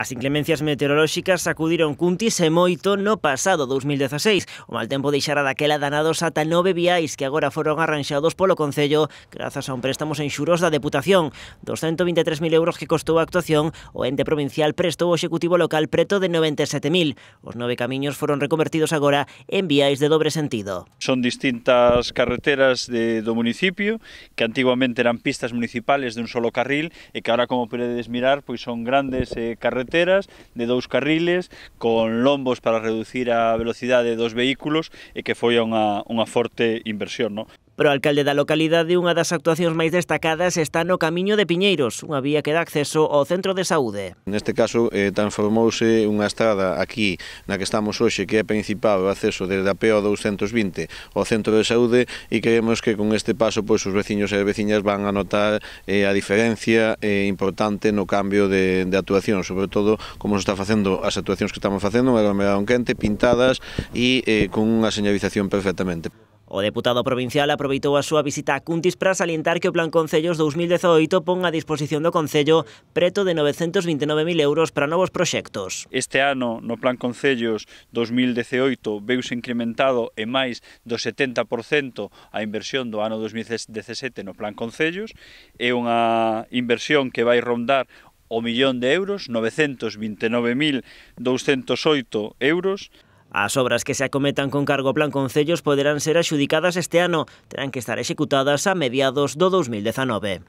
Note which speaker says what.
Speaker 1: As inclemencias meteorolóxicas sacudiron Cuntis e moito no pasado 2016. O mal tempo deixara daquela danados ata 9 viais que agora foron arranxados polo Concello grazas a un préstamo sen xuros da Deputación. 223.000 euros que costou a actuación, o ente provincial prestou ao Executivo local preto de 97.000. Os 9 camiños foron reconvertidos agora en viais de dobre sentido.
Speaker 2: Son distintas carreteras do municipio que antiguamente eran pistas municipales de un solo carril e que ahora, como podedes mirar, pois son grandes carreteras de 2 carriles con lombos para reducir a velocidade dos vehículos e que foi unha forte inversión, non?
Speaker 1: Pero o alcalde da localidade, unha das actuacións máis destacadas está no Camiño de Piñeiros, unha vía que dá acceso ao centro de saúde.
Speaker 3: Neste caso transformouse unha estrada aquí na que estamos hoxe, que é principal o acceso desde a PO 220 ao centro de saúde, e creemos que con este paso pois os veciños e as veciñas van a notar a diferencia importante no cambio de actuación, sobre todo como se está facendo as actuacións que estamos facendo, unha aglomeración quente, pintadas e con unha señalización perfectamente.
Speaker 1: O deputado provincial aproveitou a súa visita a Cuntis para salientar que o Plan Concellos 2018 pon a disposición do Concello preto de 929.000 euros para novos proxectos.
Speaker 2: Este ano, no Plan Concellos 2018, veuse incrementado en máis do 70% a inversión do ano 2017 no Plan Concellos. É unha inversión que vai rondar o 1.000.000 de euros, 929.208 euros.
Speaker 1: As obras que se acometan con cargo ao Plan Concellos poderán ser axudicadas este ano, terán que estar executadas a mediados do 2019.